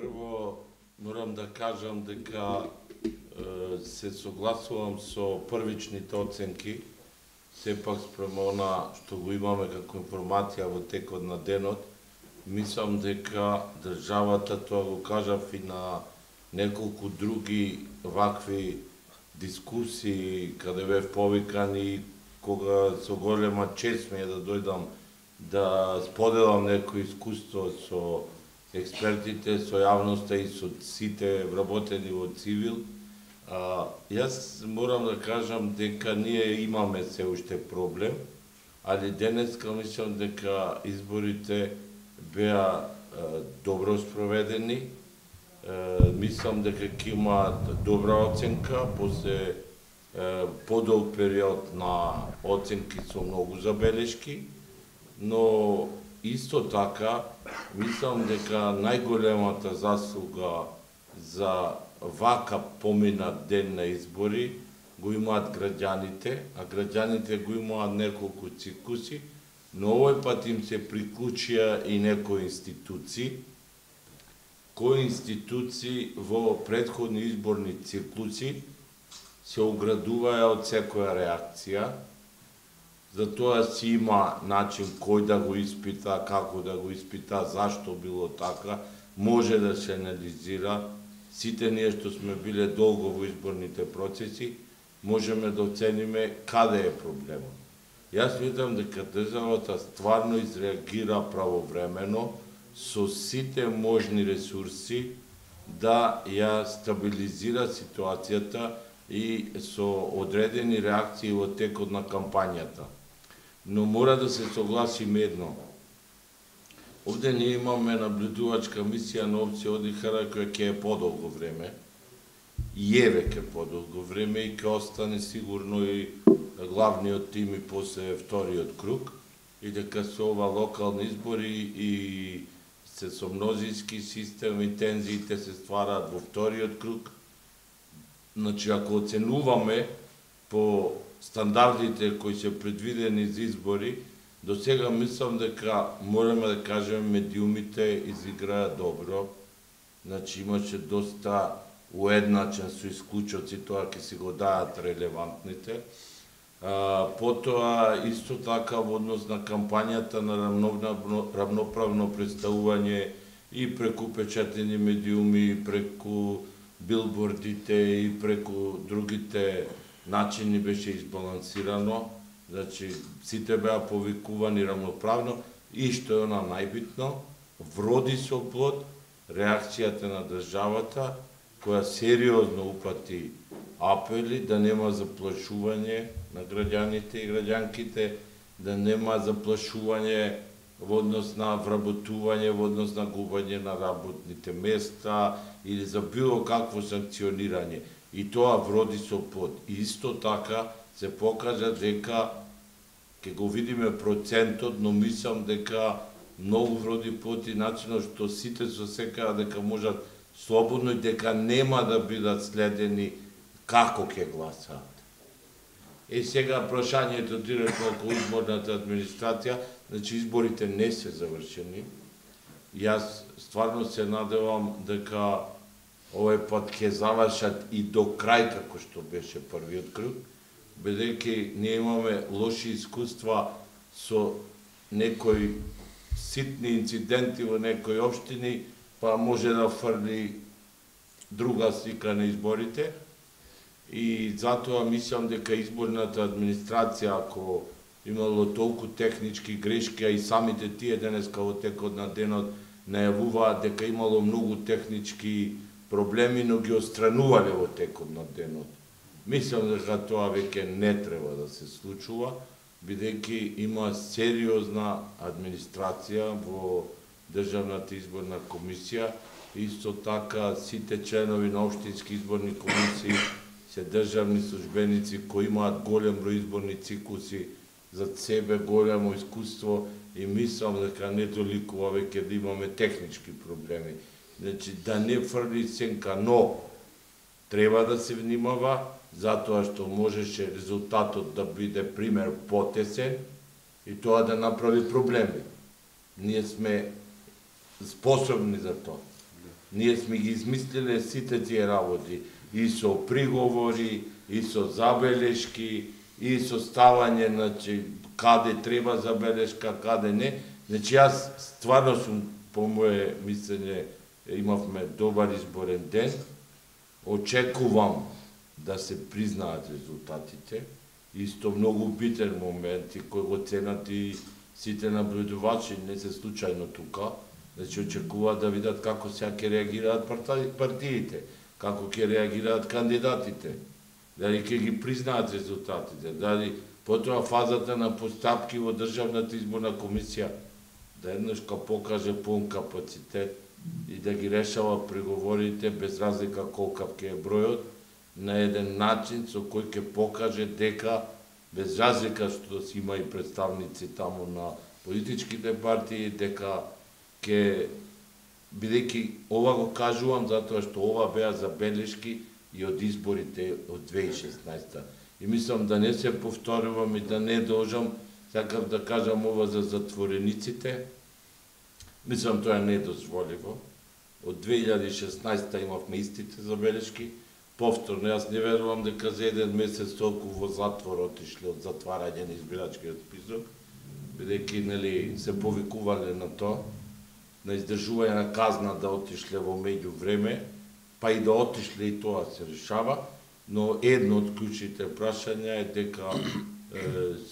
Прво, морам да кажам дека се согласувам со првичните оценки, сепак спрема она што го имаме како информација во текот на денот, мислам дека државата, тоа го кажав и на неколку други вакви дискусии, каде бев повикан и кога со голема чест ми е да дојдам да споделам некој искуство со експертите, со јавноста и со сите вработени во цивил. Јас морам да кажам дека ние имаме се уште проблем, али денеска мислам дека изборите беа добро спроведени. Мислам дека ќе имаат добра оценка после подолг период на оценки со многу забелешки, но исто така мислам дека најголемата заслуга за вака поминат ден на избори го имаат граѓаните, а граѓаните го имаат неколку циклуси, но овој пат им се приклучија и некои институции, кои институции во претходни изборни циклуси се оградуваја од секоја реакција. Затоа си има начин кој да го испита, како да го испита, зашто било така, може да се анализира. Сите ние што сме биле долго во изборните процеси, можеме да оцениме каде е проблемот. Јас мислам дека државата стварно изреагира правовремено со сите можни ресурси да ја стабилизира ситуацијата и со одредени реакции во текот на кампањата. Но мора да се согласиме едно. Овде ние имаме наблюдувачка мисија на опција Одихара која ќе е подолго време, и е веќе подолго време и ќе остане сигурно и главниот тим и после вториот круг, и дека се ова локални избори и се со мнозински систем и тензиите се ствараат во вториот круг. Значи, ако оценуваме по стандардите кои се предвидени за избори, до сега мислам дека можеме да кажеме медиумите изиграа добро. Значи имаше доста уедначен со исклучоци, тоа ќе си го даат релевантните. Потоа исто така во однос на кампањата на равноправно представување и преку печатени медиуми, и преку билбордите и преку другите начини беше избалансирано. Значи, сите беа повикувани равноправно и што е она најбитно, вроди со плод реакцијата на државата, која сериозно упати апели да нема заплашување на граѓаните и граѓанките, да нема заплашување во однос на вработување, во однос на губање на работните места или за било какво санкционирање. И тоа вроди со плод. И исто така се покажа дека ќе го видиме процентот, но мислам дека многу вроди плод и начинот што сите се осекаат дека можат слободно и дека нема да бидат следени како ќе гласаат. И сега прашањето директно околу изборната администрација, значи изборите не се завршени. Јас стварно се надевам дека овој пат ќе завршат и до крај како што беше првиот круг, бидејќи ние имаме лоши искуства со некои ситни инциденти во некои општини, па може да фрли друга слика на изборите. И затоа мислам дека изборната администрација, ако имало толку технички грешки, а и самите тие денеска во текот на денот најавуваат дека имало многу технички проблеми, но ги отстранувале во текот на денот. Мислам дека тоа веќе не треба да се случува, бидејќи има сериозна администрација во Државната изборна комисија. Исто така сите членови на општински изборни комисии се државни службеници кои имаат голем број изборни циклуси за себе, големо искуство, и мислам дека не толикува веќе да имаме технички проблеми. Значи, да не фрли сенка, но треба да се внимава, затоа што можеше резултатот да биде пример потесен и тоа да направи проблеми. Ние сме способни за тоа. Ние сме ги измислиле сите тие работи, и со приговори, и со забелешки, и со ставање, значи, каде треба забелешка, каде не. Значи, јас стварно сум, по моје мислење, имавме добар изборен ден. Очекувам да се признаат резултатите. Исто многу битен момент и кој го ценат и сите наблюдувачи, не се случајно тука. Значи, очекуваат да видат како сега ќе реагираат партиите, како ќе реагираат кандидатите, дали ќе ги признаат резултатите, дали потоа фазата на постапки во Државната изборна комисија да еднаш покаже пун капацитет и да ги решава преговорите без разлика колкав ќе е бројот, на еден начин со кој ќе покаже дека без разлика што си има и представници таму на политичките партии, дека ќе, бидејќи ова го кажувам затоа што ова беа забелешки и од изборите од 2016. И мислам да не се повторувам и да не должам, сакав да кажам ова за затворениците. Мислам тоа е недозволиво. Од 2016 имавме истите забелешки. Повторно, јас не верувам дека за еден месец толку во затвор отишле од затварање на избирачкиот список, бидејќи нели се повикувале на тоа, на издржување на казна да отишле во меѓу време, па и да отишле и тоа се решава, но едно од клучните прашања е дека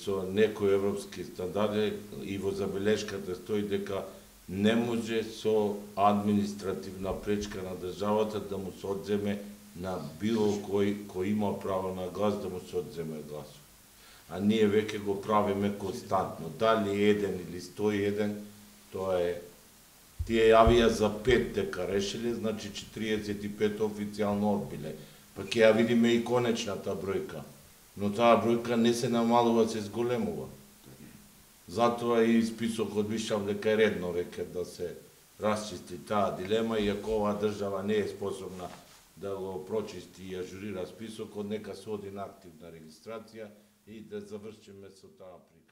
со некои европски стандарди и во забелешката стои дека не може со административна пречка на државата да му се одземе на било кој има право на глас да му се одземе гласот. А ние веќе го правиме константно. Дали 1 или 101, тоа е. Тие јавија за 5 дека решиле, значи 45 официјално одбиле. Па ќе ја видиме и конечната бројка. Но таа бројка не се намалува, се зголемува. Затоа и списокот мислам дека е редно веќе да се расчисти таа дилема, иако оваа држава не е способна да го прочисти и ажурира списокот, нека се оди на активна регистрација и да завршиме со таа причина.